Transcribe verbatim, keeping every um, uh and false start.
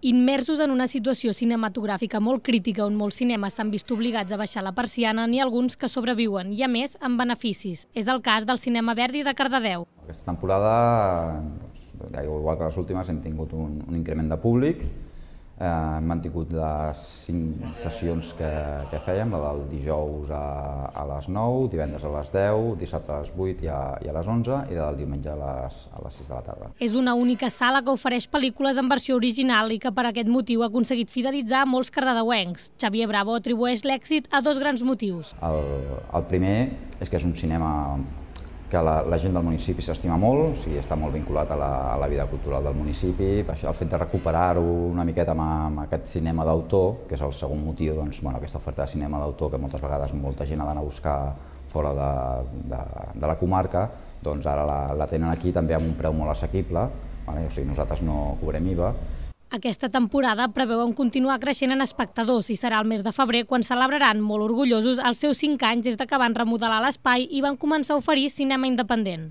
Immersos en una situació cinematogràfica molt crítica on molts cinemes s'han vist obligats a baixar la persiana, n'hi ha alguns que sobreviuen, i a més amb beneficis. És el cas del Cinema Verdi de Cardedeu. Aquesta temporada, doncs, igual que les últimes, hem tingut un, un increment de públic. Eh, hem mantingut les cinc sessions que, que fèiem, la del dijous a, a les nou, divendres a les deu, dissabte a les vuit i a, i a les onze i la del diumenge a les, a les sis de la tarda. És una única sala que ofereix pel·lícules en versió original i que per aquest motiu ha aconseguit fidelitzar molts cardedeuencs. Xavier Bravo atribueix l'èxit a dos grans motius. El, el primer és que és un cinema que la, la gent del municipi s'estima molt, o sigui, està molt vinculat a la, a la vida cultural del municipi. Això, el fet de recuperar-ho una miqueta amb, amb aquest cinema d'autor, que és el segon motiu, doncs, bueno, aquesta oferta de cinema d'autor que moltes vegades molta gent ha d'anar a buscar fora de, de, de la comarca, doncs ara la, la tenen aquí també amb un preu molt assequible, vale? O sigui, nosaltres no cobrem I V A. Aquesta temporada preveuen continuar creixent en espectadors i serà el mes de febrer quan celebraran molt orgullosos els seus cinc anys des que van remodelar l'espai i van començar a oferir cinema independent.